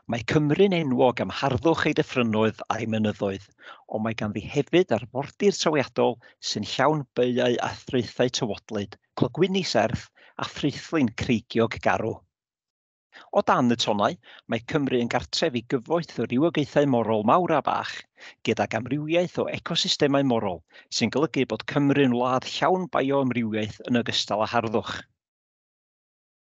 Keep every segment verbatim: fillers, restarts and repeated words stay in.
Mae Cymru'n enwog am harddwch ei dyffrynnoedd a'i mynyddoedd, ond mae ganddi hefyd arfordir trawiadol sy'n llawn baeau a thraethau tywodlyd, clogwyni serth a thraethlin creigiog garw. O dan y tonnau, mae Cymru yn gartref i gyfoeth o rywogaethau morol mawr a bach, gydag amrywiaeth o ecosystemau morol, sy'n golygu bod Cymru'n wlad llawn bioamrywiaeth yn ogystal â harddwch.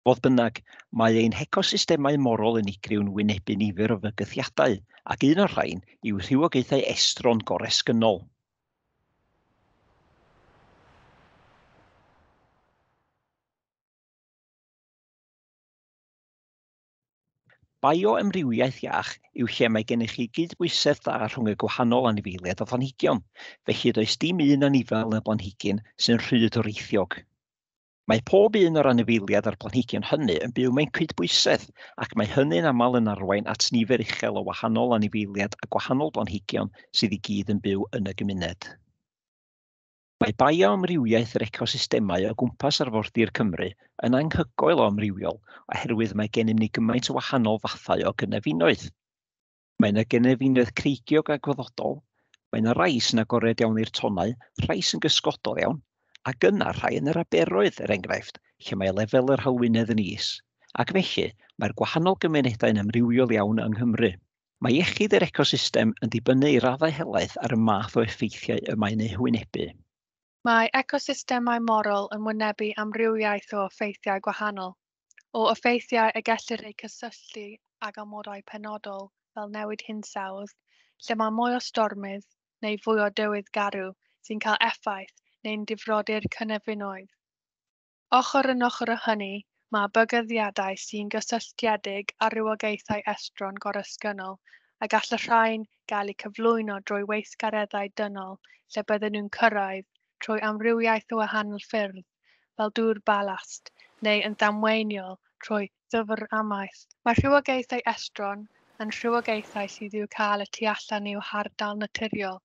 Fodd bynnag, mae ein hecosystemau morol unigryw'n wynebu nifer o fygythiadau, ac un o'r rhain yw rhywogaethau estron goresgynnol. Bioamrywiaeth iach yw lle mae gennych chi gydbwysedd da rhwng y gwahanol anifeiliaid a phlanhigion, felly does dim un anifail neu blanhigyn sy'n rhy doreithiog. Mae pob un o'r anifeiliaid a'r planhigion hynny yn byw mewn cydbwysedd, ac mae hynny'n aml yn arwain at nifer uchel o wahanol anifeiliaid a gwahanol blanhigion sydd i gyd yn byw yn y gymuned. Mae bioamrywiaeth yr ecosystemau o gwmpas arfordir Cymru yn anhygoel o amrywiol oherwydd mae gennym ni gymaint o wahanol fathau o gynefinoedd. Mae yna gynefinoedd creigiog a gwaddodol, mae yna rai sy'n agored iawn i'r tonnau, rhai sy'n gysgodol iawn, ac yna rhai yn yr aberoedd, er enghraifft, lle mae lefel yr halwynedd yn is, ac felly mae'r gwahanol gymunedau'n amrywiol iawn yng Nghymru. Mae iechyd yr ecosystem yn dibynnu i raddau helaeth ar y math o effeithiau y mae'n eu hwynebu. Mae ecosystemau morol yn wynebu amrywiaeth o effeithiau gwahanol, o effeithiau y gellir eu cysylltu ag amodau penodol fel newid hinsawdd, lle mae mwy o stormydd neu fwy o dywydd garw sy'n cael effaith neu'n difrodi'r cynefinoedd. Ochr yn ochr â hynny, mae bygythiadau sy'n gysylltiedig â rhywogaethau estron goresgynnol a gall y rhain gael eu cyflwyno drwy weithgareddau dynol lle bydden nhw'n cyrraedd trwy amrywiaeth o wahanol ffyrdd, fel dŵr balast, neu yn ddamweiniol trwy ddyfr amaeth. Mae rhywogaethau estron yn rhywogaethau sydd i'w cael y tu allan i'w hardal naturiol.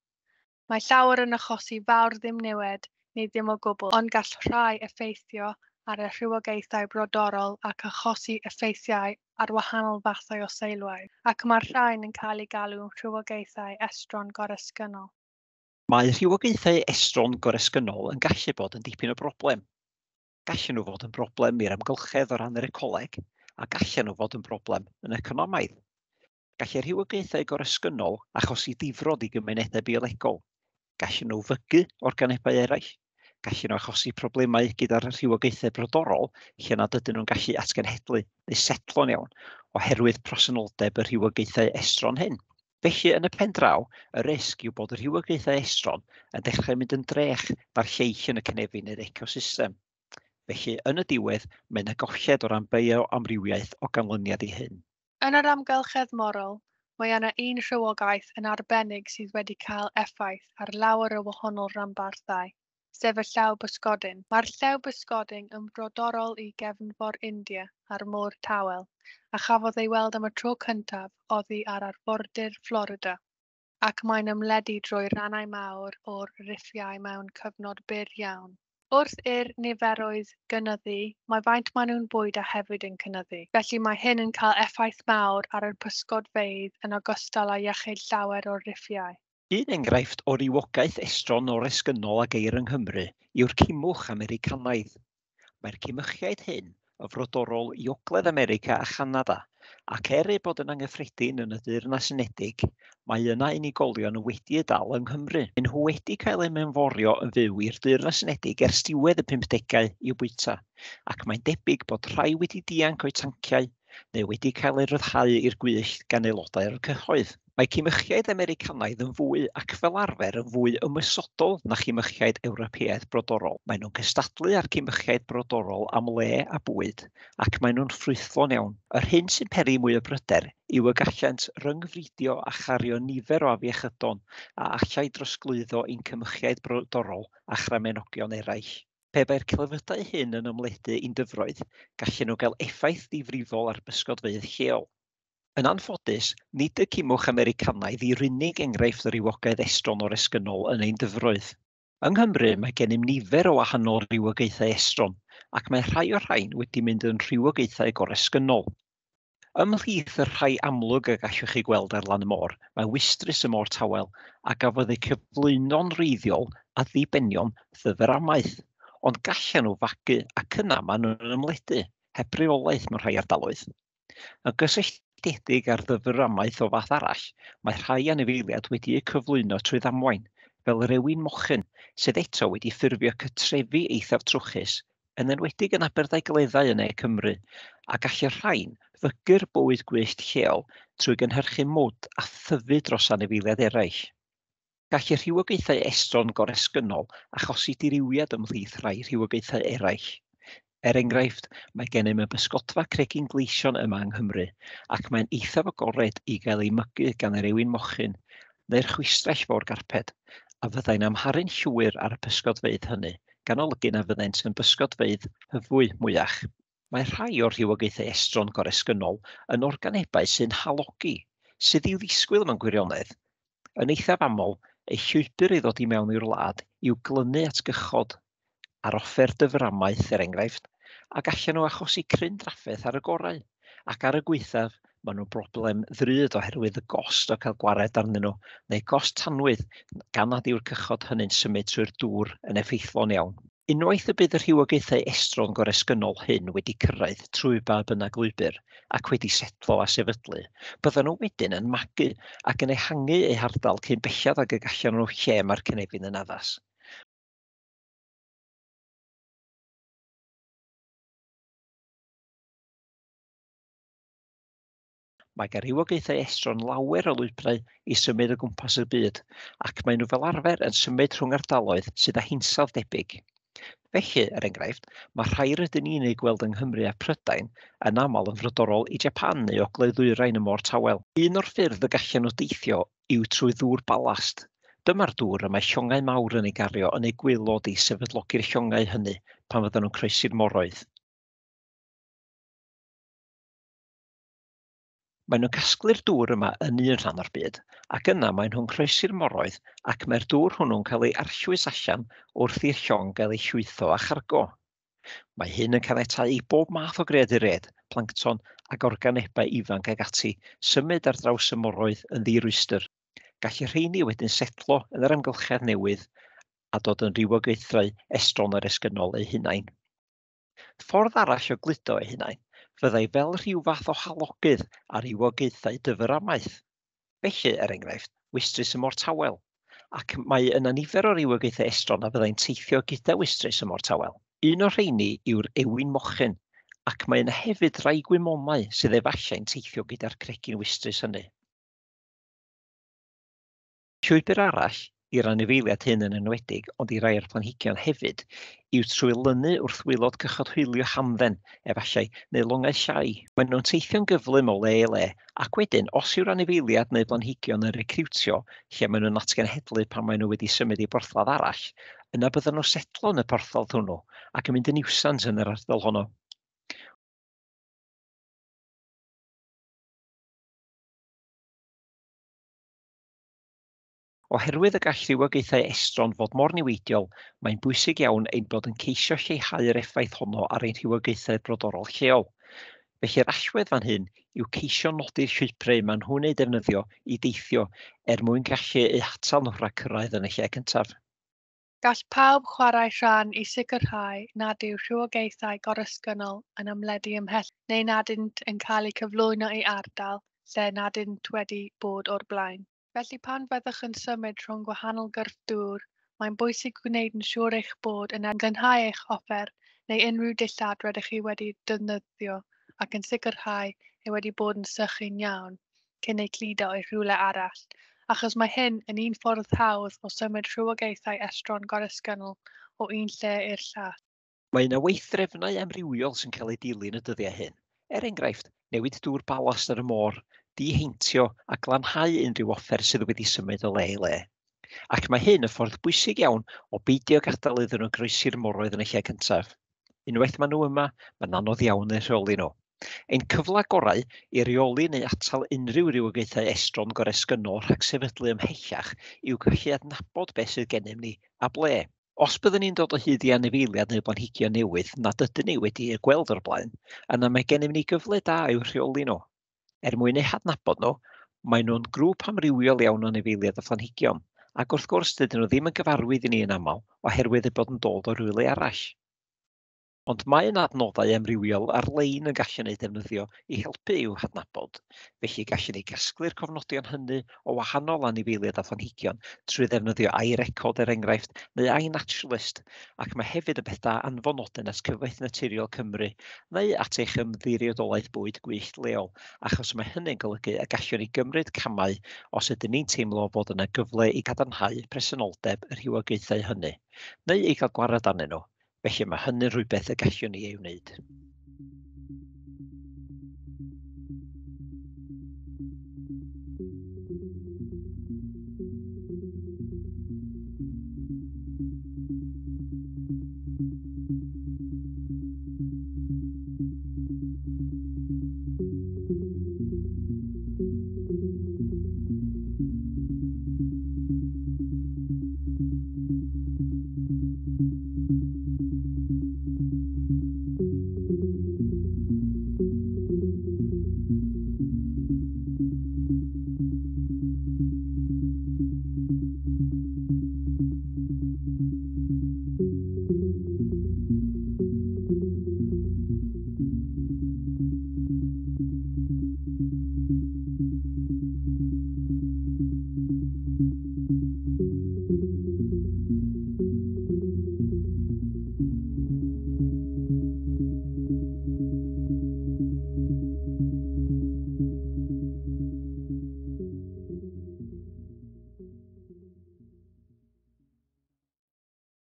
Mae llawer yn achosi fawr ddim niwed neu ddim o gwbl, ond gall rhai effeithio ar y rhywogaethau brodorol ac achosi effeithiau ar wahanol fathau o seilwaith, ac mae'r rhain yn cael eu galw'n rhywogaethau estron goresgynnol. Mae rhywogaethau estron goresgynnol yn gallu bod yn dipyn o broblem. Gallen nhw fod yn broblem i'r amgylchedd o ran yr ecoleg, a gallen nhw fod yn broblem yn economaidd. Gallai rhywogaethau goresgynnol achosi difrod i gymunedau biolegol. Gallen nhw fygu organebau eraill. Gallen nhw achosi problemau gyda'r rhywogaethau brodorol lle nad ydyn nhw'n gallu atgenhedlu neu setlo'n iawn oherwydd presenoldeb y rhywogaethau estron hyn. Felly, yn y pen draw, y risg yw bod y rhywogaethau estron yn dechrau mynd yn drech na'r lleill yn y cynefin neu'r ecosystem. Felly, yn y diwedd, mae yna golled o ran bioamrywiaeth o ganlyniad i hyn. Yn yr amgylchedd morol, mae yna un rhywogaeth yn arbennig sydd wedi cael effaith ar lawer o wahanol ranbarthau, sef y llew bysgodyn. Mae'r llew bysgodyn yn brodorol i gefnfor India a'r Môr Tawel, a chafodd ei weld am y tro cyntaf oddi ar arfordir Florida, ac mae'n ymledu drwy rannau mawr o'r riffiau mewn cyfnod byr iawn. Wrth i'r niferoedd gynyddu, mae faint maen nhw'n bwydo hefyd yn cynyddu, felly mae hyn yn cael effaith mawr ar y pysgodfeydd yn ogystal â iechyd llawer o'r riffiau. Un enghraifft o rywogaeth estron oresgynnol a geir yng Nghymru yw'r cimwch Americanaidd. Mae'r cimychiaid hyn yn frodorol i Ogledd America a Chanada, ac er eu bod yn anghyffredin yn y Deyrnas Unedig, mae yna unigolion wedi eu dal yng Nghymru. Maen nhw wedi cael eu mewnforio yn fyw i'r Deyrnas Unedig ers diwedd y pumdegau i'w bwyta, ac mae'n debyg bod rhai wedi dianc o'u tanciau neu wedi cael eu rhyddhau i'r gwyllt gan aelodau'r cyhoedd. Mae cimychiaid Americanaidd yn fwy ac fel arfer yn fwy ymosodol na chimychiaid Ewropeaidd brodorol. Maen nhw'n cystadlu â'r cimychiaid brodorol am le a bwyd, ac maen nhw'n ffrwythlon iawn. Yr hyn sy'n peri mwy o bryder yw y gallant ryngfridio a chario nifer o afiechydon a allai drosglwyddo i'n cimychiaid brodorol a chramenogion eraill. Pe bai'r clefydau hyn yn ymledu i'n dyfroedd, gallen nhw gael effaith ddifrifol ar bysgodfeydd lleol. Yn anffodus, nid y cimwch Americanaidd yw'r unig enghraifft o rywogaeth estron oresgynnol yn ein dyfroedd. Yng Nghymru mae gennym nifer o wahanol rywogaethau estron, ac mae rhai o'r rhain wedi mynd yn rhywogaethau goresgynnol. Ymhlith y rhai amlwg y gallwch chi gweld ar lan y môr, mae wystrys y môr tawel a gafodd eu cyflwyno'n wreiddiol a ddibenion ddyframaeth, ond gallan nhw fagu ac yna maen nhw'n ymledu, heb reolaeth mewn rhai ardaloedd. Yn gysylltiedig â'r ddyframaeth o fath arall, mae rhai anifeiliaid wedi'u cyflwyno trwy ddamwain, fel yr ewin mochyn, sydd eto wedi ffurfio cytrefi eithaf trwchus, yn enwedig yn Aberdaugleddau yn Ne Cymru, a gall y rhain fygu'r bywyd gwyllt lleol trwy gynhyrchu mwd a thyfu dros anifeiliaid eraill. Gall y rhywogaethau estron goresgynnol achosi dirywiad ymhlith rhai rhywogaethau eraill. Er enghraifft, mae gennym y bysgodfa cregyn gleision yma yng Nghymru, ac mae'n eithaf agored i gael ei mygu gan yr ewin mochyn neu'r chwistrell fawr garped, a fyddai'n amharu'n llwyr ar y pysgodfeydd hynny, gan olygu na fyddent yn bysgodfeydd hyfwy mwyach. Mae rhai o'r rhywogaethau estron goresgynnol yn organebau sy'n halogi, sydd i'w ddisgwyl mewn gwirionedd. Yn eithaf aml, eu llwybr i ddod i mewn i'r wlad yw glynu at gychod, ar offer dyframaeth er enghraifft, a gallan nhw achosi cryn drafferth ar y gorau, ac ar y gwaethaf, maen nhw'n broblem ddrud oherwydd y gost o cael gwared arnyn nhw, neu gost tanwydd, gan nad yw'r cychod hynny'n symud trwy'r dŵr yn effeithlon iawn. Unwaith y bydd y rhywogaethau estron goresgynnol hyn wedi cyrraedd trwy ba bynnag lwybr ac wedi setlo a sefydlu, byddan nhw wedyn yn magu ac yn ehangu eu hardal cyn belled ag y gallan nhw lle mae'r cynefin yn addas. Mae gan rywogaethau estron lawer o lwybrau i symud o gwmpas y byd, ac maen nhw fel arfer yn symud rhwng ardaloedd sydd â hinsawdd debyg. Felly, er enghraifft, mae rhai rydyn ni'n eu gweld yng Nghymru a Prydain yn aml yn frodorol i Japan neu ogledd ddwyrain y Môr Tawel. Un o'r ffyrdd y gallan nhw deithio yw trwy ddŵr balast. Dyma'r dŵr y mae llongau mawr yn ei gario yn eu gwaelod i sefydlogi'r llongau hynny pan fyddan nhw'n croesi'r moroedd. Maen nhw'n casglu'r dŵr yma yn un rhan o'r byd, ac yna maen nhw'n croesi'r moroedd ac mae'r dŵr hwnnw'n cael ei arllwys allan wrth i'r llong gael ei llwytho a chargo. Mae hyn yn caniatáu i bob math o greaduriaid, plancton ac organebau ifanc ag ati symud ar draws y moroedd yn ddirwystr. Gall y rheini wedyn setlo yn yr amgylchedd newydd a dod yn rywogaethau estron oresgynnol eu hunain. Ffordd arall o gludo eu hunain fyddai fel rhyw fath o halogydd ar rywogaethau dyframaeth. Felly, er enghraifft, wystrys y Môr Tawel, ac mae yna nifer o rywogaethau estron a fyddai'n teithio gyda wystrys y Môr Tawel. Un o'r rheini yw'r ewin mochyn, ac mae yna hefyd rai gwymonau sydd efallai'n teithio gyda'r cregyn wystrys hynny. Llwybr arall i'r anifeiliaid hyn yn enwedig, ond i rai o'r planhigion hefyd, yw trwy lynu wrth waelod cychod hwylio hamdden, efallai, neu longau llai. Maen nhw'n teithio'n gyflym o le i le, ac wedyn, os yw'r anifeiliaid neu blanhigion yn recriwtio, lle maen nhw'n atgenhedlu pan maen nhw wedi symud i borthladd arall, yna byddan nhw'n setlo yn y porthladd hwnnw ac yn mynd yn niwsans yn yr ardal honno. Oherwydd y gall rhywogaethau estron fod mor niweidiol, mae'n bwysig iawn ein bod yn ceisio lleihau'r effaith honno ar ein rhywogaethau brodorol lleol. Felly'r allwedd fan hyn yw ceisio nodi'r llwybrau maen nhw'n eu defnyddio i deithio er mwyn gallu eu hatal nhw rhag cyrraedd yn y lle cyntaf. Gall pawb chwarae rhan i sicrhau nad yw rhywogaethau goresgynnol yn ymledu ymhell neu nad ydynt yn cael eu cyflwyno i ardal lle nad ydynt wedi bod o'r blaen. Felly pan fyddwch yn symud rhwng gwahanol gyrff dŵr, mae'n bwysig gwneud yn siŵr eich bod yn glanhau eich offer neu unrhyw dillad rydych chi wedi defnyddio ac yn sicrhau ei wedi bod yn sychu'n iawn cyn eu cludo i rhywle arall, achos mae hyn yn un ffordd hawdd o symud rhywogaethau estron goresgynnol o un lle i'r llall. Mae yna weithdrefnau amrywiol sy'n cael eu dilyn y dyddiau hyn. Er enghraifft, newid dŵr balast ar y môr, diheintio a glanhau unrhyw offer sydd wedi symud o le i le. Ac mae hyn yn ffordd bwysig iawn o beidio gadael iddyn nhw groesi'r moroedd yn y lle cyntaf. Unwaith maen nhw yma, mae'n anodd iawn eu rheoli nhw. Ein cyfle gorau i reoli neu atal unrhyw rywogaethau estron goresgynnol rhag sefydlu ymhellach yw gallu adnabod beth sydd gennym ni a ble. Os byddwn ni'n dod o hyd i anifeiliaid neu blanhigion newydd nad ydyn ni wedi eu gweld o'r blaen, yna mae gennym ni gyfle da i'w rheoli nhw. Er mwyn eu hadnabod nhw, maen nhw'n grŵp amrywiol iawn o anifeiliaid a phlanhigion, ac wrth gwrs dydyn nhw ddim yn gyfarwydd i ni yn aml oherwydd eu bod yn dod o rywle arall. Ond mae yna adnoddau amrywiol ar-lein yn gallu eu defnyddio i helpu i'w hadnabod, felly gallwn ni gasglu'r cofnodion hynny o wahanol anifeiliaid a phlanhigion trwy ddefnyddio iRecord er enghraifft neu iNaturalist, ac mae hefyd yn beth da anfon nodyn at Cyfoeth Naturiol Cymru neu at eich ymddiriedolaeth bwyd gwyllt leol, achos mae hynny'n golygu y gallwn ni gymryd camau os ydyn ni'n teimlo fod yna gyfle i gadarnhau presenoldeb y rhywogaethau hynny, neu i gael gwared arnyn nhw. Felly mae hynny'n rhywbeth y gallwn ni ei wneud.